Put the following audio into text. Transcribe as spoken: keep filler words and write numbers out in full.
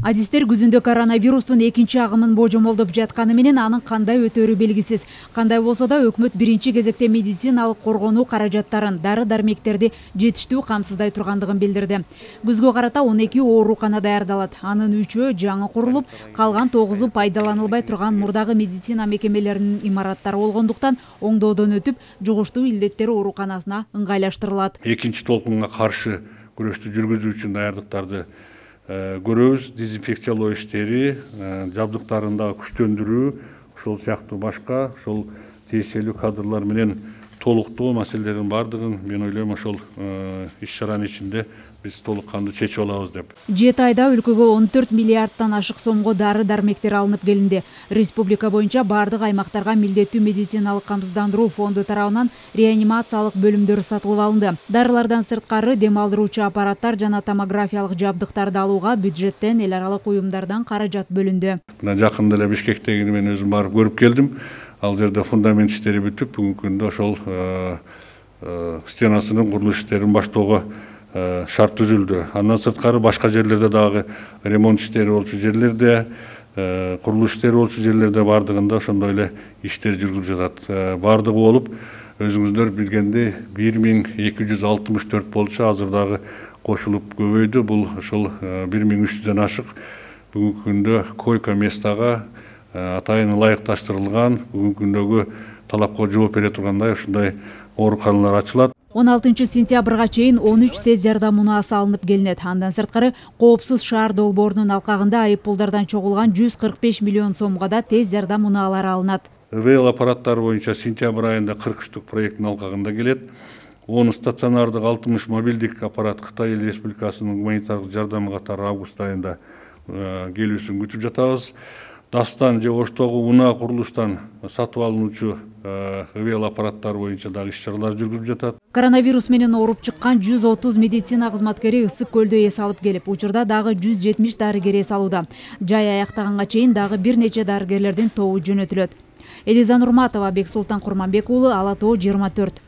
Адистер күзүндө коронавирустун экинчи агымын божомолдоп жатканы менен анын кандай өтөрү белгисиз. Кандай болсо да өкмөт биринчи кезекте медициналык коргонуу каражаттарын, дары-дармектерди жетиштүү камсыздай тургандыгын билдирди. Күзгө карата он эки оорукана даярдалат. Анын үчөө жаңы курулуп, калган тогузу пайдаланылбай турган мурдагы медицина мекемелеринин имараттары болгондуктан оңдоодон өтүп, жугуштуу илдеттер ооруканасына ыңгайлаштырылат. Экинчи толкунга каршы күрөштү жүргүзүү үчүн даярдыктарды көрөбүз. Дезинфекциялоо иштери, жабдыктарын да күчтөндүрүү, ошол сыяктуу башка ошол тиешелүү кадрлар менен толуктоо маселелердин бардыгын мен ойлойм ошол иш-чаранын ичинде биз толук кандуу чечип алабыз деп. жети айда өлкөгө он төрт миллиардтан ашык сомго дары-дармектер алынып келинди. Республика боюнча бардык аймактарга милдеттүү медициналык камсыздандыруу фонду тарабынан реанимациялык бөлүмдөр сатылып алынды. Дарылардан сырткары дем алдыруучу аппараттар жана томографиялык жабдыктарды алууга бюджеттен эл аралык уюмдардан каражат бөлүндү. Мына жакында эле Бишкектеги мен өзүм барып көрүп келдим. Ал жерде фундамент иштери бүтүп, бүгүнкү күндө ошол стенасынын курулуш иштерин баштоого шарт түзүлдү. Андан сырткары башка жерлерде дагы ремонт иштери болчу жерлерде, курулуш иштери болчу жерлерде бардыгында ошондой эле иштер жүргүзүлүп жатат. Бардыгы болуп, өзүңүздөр билгендей бир миң эки жүз алтымыш төрт болчу, азыр дагы кошулуп көбөйдү. Бул ошол бир миң үч жүздөн ашык бүгүнкү күндө койка местага атайын ылайыкташтырылган, бүгүнкү күндөгү талапка жооп бере тургандай ушундай ооруканалар ачылат. он алтынчы сентябрга чейин он үч тез жардам унаасы алынып келинет. Андан сырткары коопсуз шаар долбоорунун алкагында айыппулдардан чогулган жүз кырк беш миллион сомго да тез жардам унаалары алынат. ИВЛ аппараттары боюнча сентябрь айында кырк үчтүк проекттин алкагында келет. он стационардык алтымыш мобилдик аппарат Кытай Республикасынын гуманитардык жардамы катары август айында келүүсүн күтүп жатабыз. Дастан же Оштогу унаа курулуштан сатып алынуучу ИВЛ аппараттары боюнча дагы иш-чаралар жүргүзүлүп жатат. Коронавирус менен ооруп чыккан жүз отуз медицина кызматкери Ысык көлдө эс алып келип, учурда дагы жүз жетимиш дарыгер эс алууда. Жай аяктаганга чейин дагы бир нече дарыгерлердин тобу жөнөтүлөт. Элиза Нурматова, Бексултан Курманбек уулу, Ала Тоо жыйырма төрт.